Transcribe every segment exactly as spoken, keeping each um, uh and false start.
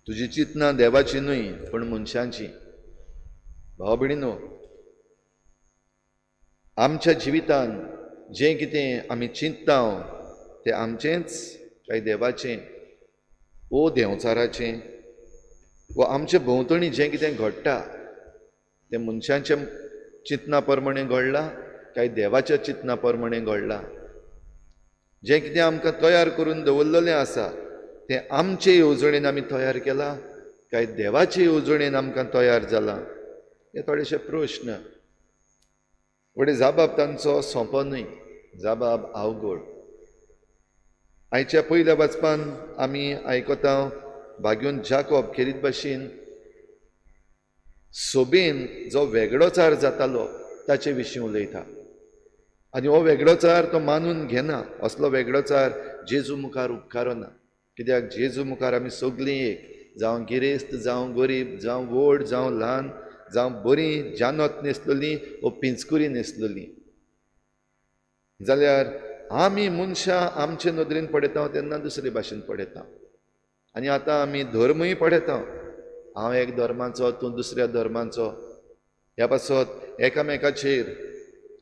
तुजी चिंतनां देवाची न्हय पूण मनशांची. भाव भयणीनो, आमच्या जिवितान जें कितें आमी चिंतता तें आमचेंच काय देवाचें ओ देंवचाराचें वा आमचे भोंवतणी जें कितें घडटा तें मनशांच्या चिंतना प्रमाणें घडलां काय देवाच्या चिंतना प्रमाणें घडलां? जें कितें आमकां तयार करून दवरलेलें आसा तें आमचे येवजणेन आमी तयार केलां काय देवाचे येवजणेन आमकां तयार जालां? हे थोडेशे प्रश्न. व्हडे जाबाब तांचो सोंपो न्हय, जाबाब अवघड. आयच्या पयल्या वाचपान आमी आयकता भाग्योन जाकोब खेरीत भाशेन सोबेन जो वेगळोचार जातालो ताचे विशीं उलयता आनी हो वेगळोचार तो मानून घेना. असलो वेगळोचार जेजू मुखार उपकारना, कित्याक जेजू मुखार आमी सगळीं एक, जावं गिरेस्त जावं गरीब, जावं व्हड जावं ल्हान, जावं बरीं जानत न्हेसलेलीं वो पिंजकुरी न्हेसलेलीं. जाल्यार आमी मनशां आमचे नदरेन पळयता तेन्ना दुसरे भाशेन पळयता आनी आतां आमी धर्मूय पळयता. हांव एक धर्माचो, तूं दुसऱ्या धर्माचो, ह्या पासत एकामेकाचेर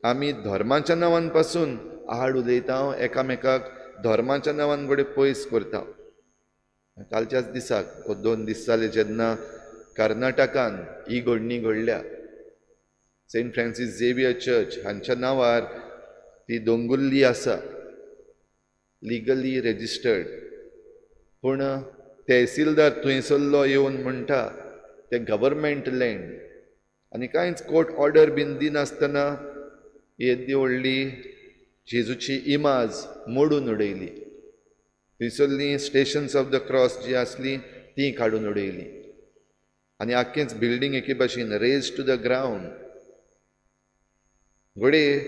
आमी धर्माच्या नांवान पासून आड उलयता, एकामेकाक धर्माच्या नांवान घडये पयस करता. कालच्याच दिसाक वो दोन दीस जाले जेन्ना कर्नाटकान ही घडणी घडल्या, सेंट फ्रांसीस झेवियर चर्च हांच्या नांवार ती दोंगुल्ली आसा, लिगली रेजिस्टर्ड, पूण तहसीलदार थंयसरलो येवन म्हणटा तें गव्हर्मेंट लँड आनी कांयच कोर्ट ऑर्डर बीन दिनासतना येदी व्हडली जेजूची इमाज मोडून उडयली. थंयसरलीं स्टेशन्स ऑफ the cross जी आसलीं तीं काडून उडयलीं आनी आख्खेंच बिल्डींग एके भाशेन रेज टू the ground. घडये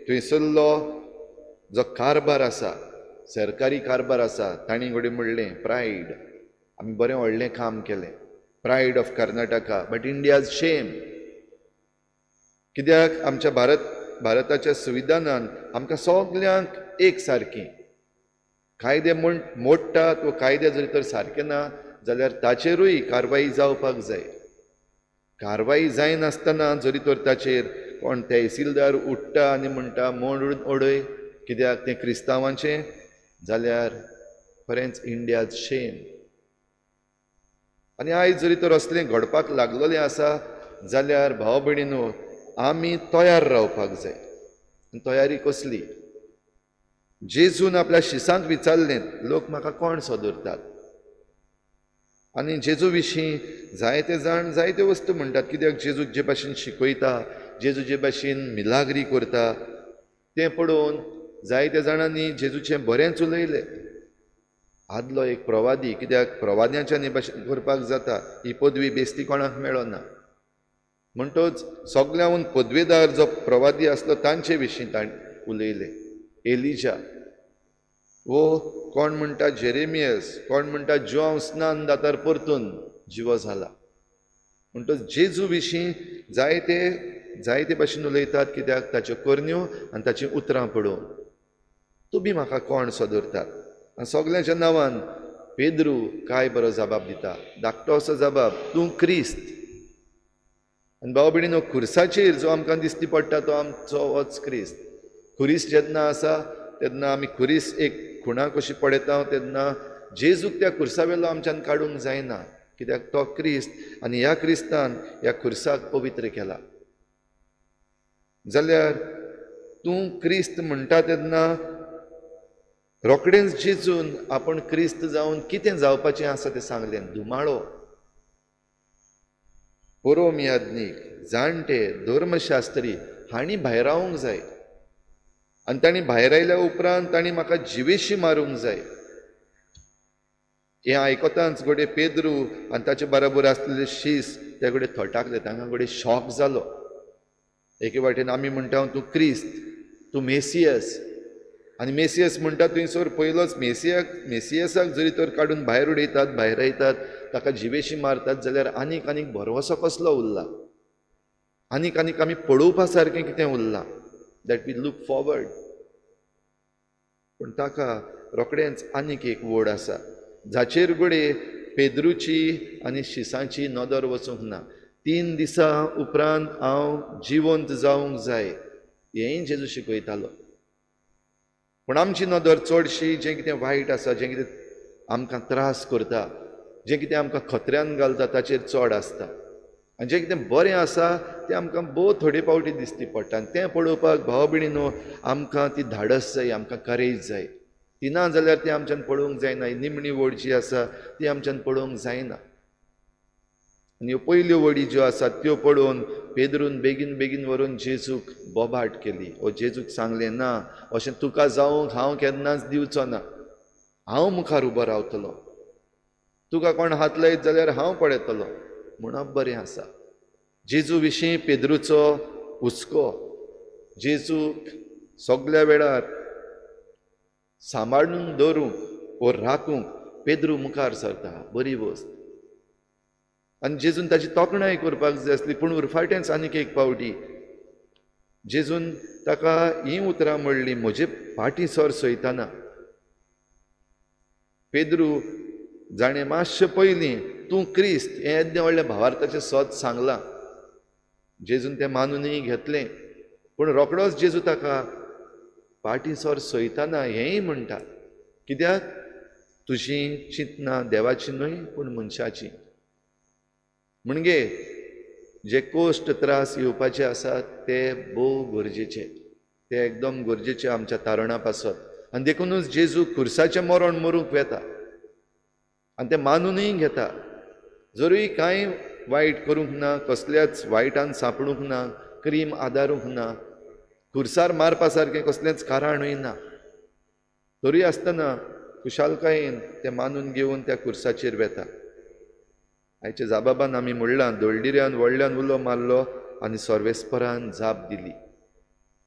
थंयसरलो जो कारभार आसा, सरकारी कारभार आसा, तांणी घडये म्हणलें प्रायड, आमी बरें व्हडलें काम केलें, pride of Karnataka, but India's shame. कित्याक आमच्या भारत भारताच्या संविधानान आमकां सगल्यांक एक सारकी कायदे म्हण मोडटात वा कायदे जरी तर सारके ना जाल्यार ताचेरूय कारवाई जावपाक जाय. कारवाई जायनासतना जरी तर ताचेर कोण तहसीलदार उठ्ठा आनी म्हणटा मोडून उडय कित्याक तें क्रिस्तांवांचें, जाल्यार खरेंच इंडियाज शेम. आनी आयज जरी तर असलें घडपाक लागलेलें आसा जाल्यार भाव भयणीनो आमी तयार रावपाक जाय. तयारी कसली? जेजून आपल्या शिसांक विचारलें, लोक म्हाका कोण सदरतात? आनी जेजू विशीं जायते जाण जायत्यो वस्तू म्हणटात, कित्याक जेजू जे भाशेन शिकयता, जेजू जे भाशेन मिलाग्री करता तें पळोवन जायत्या जाणांनी जेजूचें बरेंच उलयलें. आदलो एक प्रवादी, कित्याक प्रवाद्यांच्यान हे भाशेन करपाक जाता, ही पदवी बेस्ती कोणाक मेळना, म्हणटच सगळ्याहून पदवेदार जो प्रवादी आसलो तांचे विशीं ताणें उलयलें. एलिजा वो कोण म्हणटा जेरेमियस, कोण म्हणटा जुआंव स्नान दातार परतून जिवो जाला. म्हणटच जेजू विशीं जायते जायते भाशेन उलयतात, कित्याक ताच्यो करण्यो आनी ताचीं उतरां पळोवन. तुमी म्हाका कोण सदरतात? आनी सगल्यांच्या नांवान पेद्रू काय बरो जबाब दिता, धाकटो असो जबाब, तूं क्रिस्त. आनी भाव भयणीनो, खुर्साचेर जो आमकां दिसती पडटा तो आमचो होच क्रिस्त. खुरीस जेन्ना आसा तेन्ना आमी खुरीस एक खुणा कशी पळयता तेन्ना जेजूक त्या खुर्सावेलो आमच्यान काडूंक जायना, कित्याक तो क्रिस्त आनी ह्या क्रिस्तान ह्या खुर्साक पवित्र केला. जाल्यार तूं क्रिस्त म्हणटा तेन्ना रोखडेंच जेजून आपूण क्रिस्त जावन कितें जावपाचें आसा तें सांगलें. धुमाळो, परोम याज्ञीक, जाणटे, धर्मशास्त्री हांणी भायरावंक जाय आनी तांणी भायर आयल्या उपरांत तांणी म्हाका जिवेशी मारूंक जाय. हें आयकतांच घडये पेद्रू आनी ताचे बराबर आसलेले शीस ते घडये थटाकले, तांकां घडये शॉक जालो. एके वाटेन आमी म्हणटा तूं क्रिस्त, तूं मेसियस, आनी मेसियस म्हणटा थंयसर पयलोच मेसियाक मेसियसाक जरी तर काडून भायर उडयतात, भायर आयतात, ताका जिवेशी मारतात, जाल्यार आनीक आनीक भरवंसो कसलो उरला? आनीक आनीक आमी पळोवपा सारकें कितें उरलां that we look forward? पूण ताका रोखडेंच आनीक एक वड आसा जाचेर घडये पेद्रूची आनी शिसांची नदर वचूंक ना. तीन दिसां उपरांत हांव जिवंत जावंक जाय हेंय जेजू शिकयतालो. पूण आमची नदर चडशी जें कितें वायट आसा, जें कितें आमकां त्रास करता, जें कितें आमकां खतऱ्यान घालता ताचेर चड आसता, आनी जें कितें बरें आसा तें आमकां भोव थोडे फावटी दिसती पडटा. आनी तें पळोवपाक भाव भयणीनो आमकां ती धाडस जाय, आमकां करेज जाय. ती ना जाल्यार ती आमच्यान पळोवंक जायना. ही निमणी वड जी आसा ती आमच्यान पळोवंक जायना. आनी ह्यो पयल्यो वडी ज्यो आसात त्यो पळोवन पेद्रून बेगीन बेगीन व्हरून जेजूक बोबाट केली. ओ जेजूक सांगलें, ना, अशें तुका जावंक हांव केन्नाच दिवचो ना, हांव मुखार उबो रावतलो, तुका कोण हात लायत जाल्यार हांव पळयतलो म्हणप बरें आसा. जेजू विशीं पेद्रूचो हुस्को, जेजूक सगल्या वेळार सांबाळून दवरूंक वो राखूंक पेद्रू मुखार सरता, बरी वस्त. आनी जेजून ताची तोखणाय करपाक जाय आसली, पूण उरफाटेंच आनीक एक फावटी जेजून ताका हीं उतरां म्हणलीं, म्हजे फाटीं सर सयतना. पेद्रू जाणें मातशें पयलीं तूं क्रिस्त हें येद्दें व्हडलें भावार्थाचें सत सांगलां, जेजून तें मानुनूय घेतलें, पूण रोखडोच जेजू ताका फाटीं सर सयतना हेंय म्हणटा, कित्याक तुजीं चिंतनां देवाची न्हय पूण मनशाची. म्हणजे जे कोश्ट त्रास येवपाचे आसात ते भोव गरजेचे, ते एकदम गरजेचे आमच्या तारणा पासत. आनी देखुनूच जेजू खुर्साचें मरण मरूंक वेता आनी तें मानुनूय घेता. जरूय कांय वायट करूंक ना, कसल्याच वायटान सांपडूंक ना, क्रीम आदारूंक ना, खुर्सार मारपा सारकें कसलेंच कारणूय ना, तरूय आसतना खुशालकायेन तें मानून घेवन त्या खुर्साचेर वेता. आयच्या जाबाबान आमी म्हणलां, दोळडिऱ्यान व्हडल्यान उलो मारलो आनी सर्वेस्परान जाप दिली.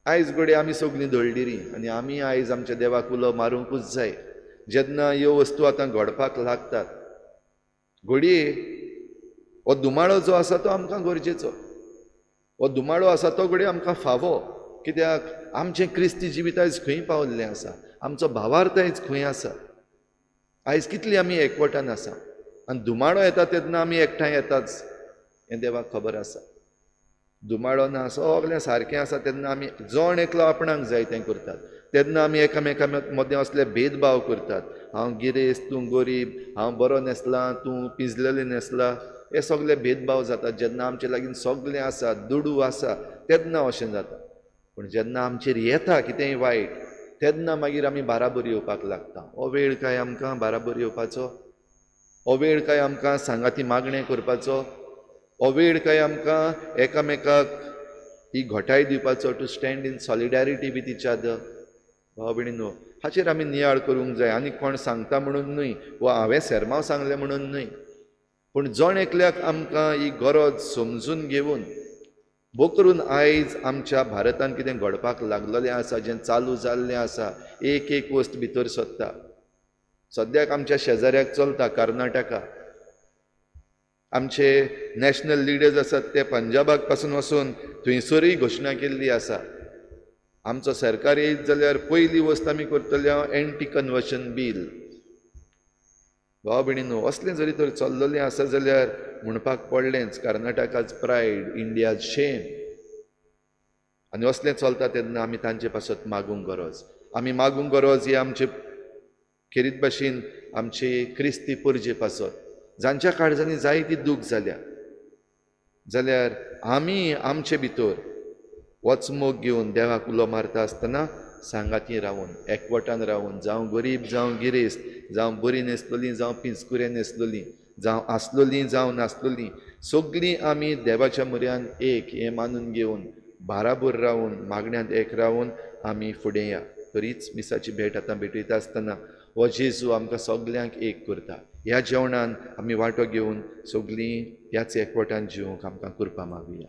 आयज घडये आमी सगळीं दोळडिरी आनी आमी आयज आमच्या देवाक उलो मारूंकूच जाय. जेन्ना ह्यो वस्तू आतां घडपाक लागतात, घडये हो दुमाळो जो आसा तो आमकां गरजेचो, हो दुमाळो आसा तो घडये आमकां फावो, कित्याक आमचें क्रिस्ती जिवीत आयज खंय पावल्लें आसा, आमचो भावार्थ आयज खंय आसा, आयज कितली आमी एकवटान आसा. आनी दुमाळो येता तेन्ना आमी एकठांय येताच हें देवाक खबर आसा. दुमाळो ना, सगळें सारकें आसा तेन्ना आमी जण एकलो आपणाक जाय तें करतात, तेन्ना आमी एकामेकां मदें असले भेदभाव करतात, हांव गिरेस्त तूं गरीब, हांव बरो न्हेसलां तूं पिंजलेलें न्हेसलां, हे सगळे भेदभाव जातात. जेन्ना आमचे लागीं सगळें आसा, दुडू आसा, तेन्ना अशें जाता. पूण जेन्ना आमचेर येता कितेंय वायट तेन्ना मागीर आमी बाराबर येवपाक लागता. हो वेळ काय आमकां बाराबर येवपाचो? हो वेळ काय आमकां सांगाती मागणें करपाचो? हो वेळ काय आमकां एकामेकाक ही घटाय दिवपाचो, to stand in solidarity with each other? भाव भयणीनो, हाचेर आमी नियाळ करूंक जाय. आनी कोण सांगता म्हणून न्हय, वा हांवें सेर्मांव सांगलें म्हणून न्हय, पूण जण एकल्याक आमकां ही गरज समजून घेवन, भोव करून आयज आमच्या भारतान कितें घडपाक लागलेलें आसा, जें चालू जाल्लें आसा, एक एक वस्त भितर सोदता. सद्याक आमच्या शेजाऱ्याक चलता कर्नाटका, आमचे नॅशनल लिडर्स आसात ते पंजाबाक पासून वचून थंयसरूय घोशणा केल्ली आसा, आमचो सरकार येयत जाल्यार पयली वस्त आमी करतले एंटी कन्वर्शन बील. भाव भयणीनो, असलें जरी तर चल्लेलें आसा जाल्यार म्हणपाक पडलेंच, कर्नाटकाच प्रायड, इंडियाज शेम. आनी असलें चलता तेन्ना आमी तांचे पासत मागूंक गरज, आमी मागूंक गरज ही आमचे खेरीत भाशेन आमचे क्रिस्ती परजे पासत, जांच्या काळजांनी जायती दूख जाल्या. जाल्यार आमी आमचे भितर वचमोग घेवन देवाक उलो मारता आसतना सांगाती रावून, एकवटान रावून, जावं गरीब जावं गिरेस्त, जावं बरी न्हेसलोलीं जावं पिंजकुरे न्हेसलोलीं, जावं आसलोलीं जावं नासलोलीं, सगळीं आमी देवाच्या म्हऱ्यान एक हें मानून घेवन बाराबर रावून, मागण्यांत एक रावून आमी फुडें या. तरीच मिसाची भेट आतां भेटयता आसतना हो जेजू आमकां सगल्यांक एक करता. ह्या जेवणान आमी वांटो घेवन सगळीं ह्याच एकवटान जिवंक आमकां कृपा मागुया.